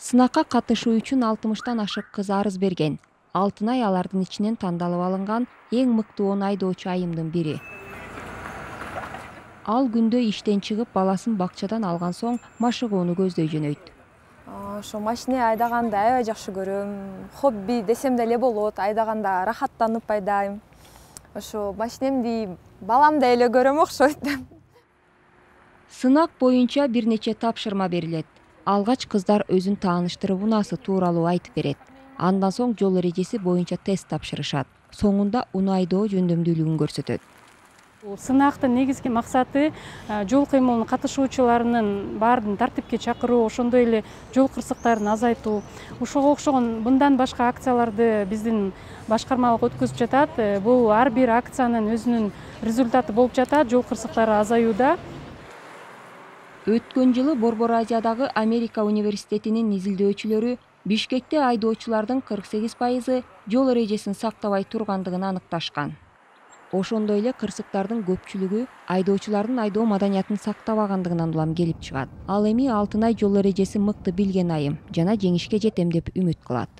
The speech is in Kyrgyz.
Сынакка катышуу үчүн 60тан ашык кыз арыз берген. Алтынай алардын ичинен тандалып алынган эң мыкты 10 айдоочу айымдын бири. Ал күндө иштен чыгып баласын бакчадан алган соң машыгууну көздөй жөнөйт. Ошо машина айдаганды аябай жакшы көрөм. Хобби десем деле болот. Айдаганда рахаттанып айдайм. Ошо машинемди баламдай эле көрөм окшойт. Сынак боюнча бир нече тапшырма берилет. Алгач кыздар өзүн тааныштырып унаасы тууралуу айтып берет. Андан соң жол эрежеси боюнча тест тапшырышат. Соңунда унаа айдоо жөндөмдүүлүгүн көрсөтөт. Сынактын негизги максаты жол кыймылынын катышуучуларынын баарын тартипке чакыруу, ошондой эле жол кырсыктарын азайтуу. Ошого окшогон мындан башка акцияларды биздин башкармалык өткөзүп жатат. Бул ар бир акциянын өзүнүн результаты болуп жатат. Жол кырсыктары азаюуда. Өткөн жылы Борбор Азиядагы Америка университетинин изилдөөчүлөрү Бишкекте айдоочулардын 48% жол эрежесин сактабай тургандыгын аныкташкан. Ошондой эле кырсыктардын көпчүлүгү айдоочулардын айдоо маданиятын сактабагандыгынан улам келип чыгат. Ал эми Алтынай жол эрежесин мыкты билген айым жана жеңишке жетем деп үмүт кылат.